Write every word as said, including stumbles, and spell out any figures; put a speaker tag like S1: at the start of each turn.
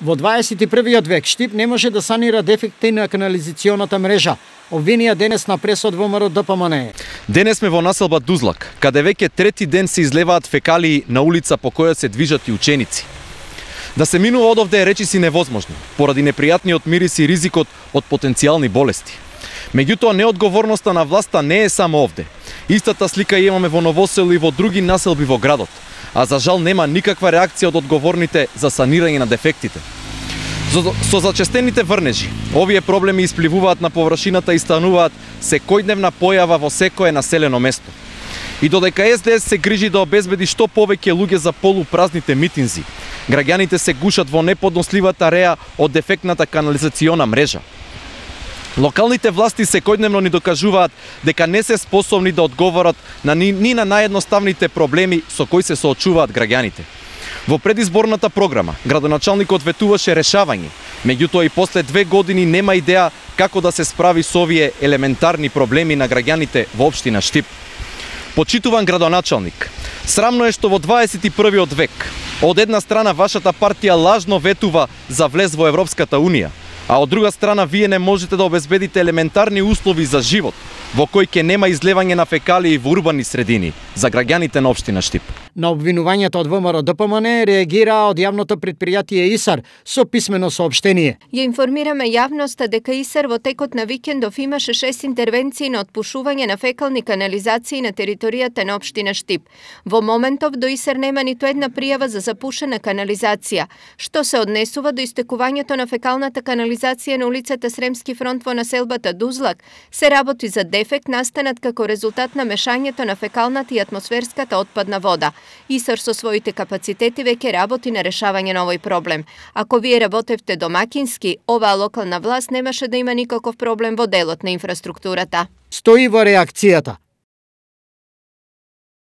S1: Во дваесет и првиот век Штип не може да санира дефекти на канализационата мрежа. Обвинија денес на пресод ВМРО Д П М Н Е.
S2: Денес сме во населба Дузлак, каде веќе трети ден се излеваат фекалии на улица по која се движат и ученици. Да се минува одовде е речиси невозможно, поради непријатниот мирис и ризикот од потенцијални болести. Меѓутоа, неодговорноста на власта не е само овде. Истата слика имаме во Новосело и во други населби во градот, а за жал нема никаква реакција од одговорните за санирање на дефектите. Со зачестените врнежи, овие проблеми испливуваат на површината и стануваат секојдневна појава во секое населено место. И додека С Д С се грижи да обезбеди што повеќе луѓе за полупразните митинзи, граѓаните се гушат во неподносливата реа од дефектната канализациона мрежа. Локалните власти секојдневно ни докажуваат дека не се способни да одговорат на ни, ни на наједноставните проблеми со кои се соочуваат граѓаните. Во предизборната програма, градоначалникот ветуваше решавање, меѓутоа и после две години нема идеја како да се справи со овие елементарни проблеми на граѓаните во општина Штип. Почитуван градоначалник, срамно е што во дваесет и првиот век од една страна вашата партија лажно ветува за влез во Европската Унија, а од друга страна вие не можете да обезбедите елементарни услови за живот, во кој ќе нема излевање на фекалии во урбани средини за граѓаните на општина Штип.
S1: На обвинувањето од ВМРО Д П М Н Е реагира од јавното претпријатие ИСАР со писмено соопштение.
S3: Ја информираме јавноста дека ИСАР во текот на викендов имаше шест интервенции на отпушување на фекални канализации на територијата на општина Штип. Во моментов до ИСАР нема ниту една пријава за запушена канализација, што се однесува до истекувањето на фекалната канализација на улицата Сремски фронт во населбата Дузлак. Се работи за дефект настанат како резултат на мешањето на фекалната и атмосферската отпадна вода. ИСАР со своите капацитети веќе работи на решавање на овој проблем. Ако вие работевте домакински, оваа локална власт немаше да има никаков проблем во делот на инфраструктурата.
S1: Стои во реакцијата.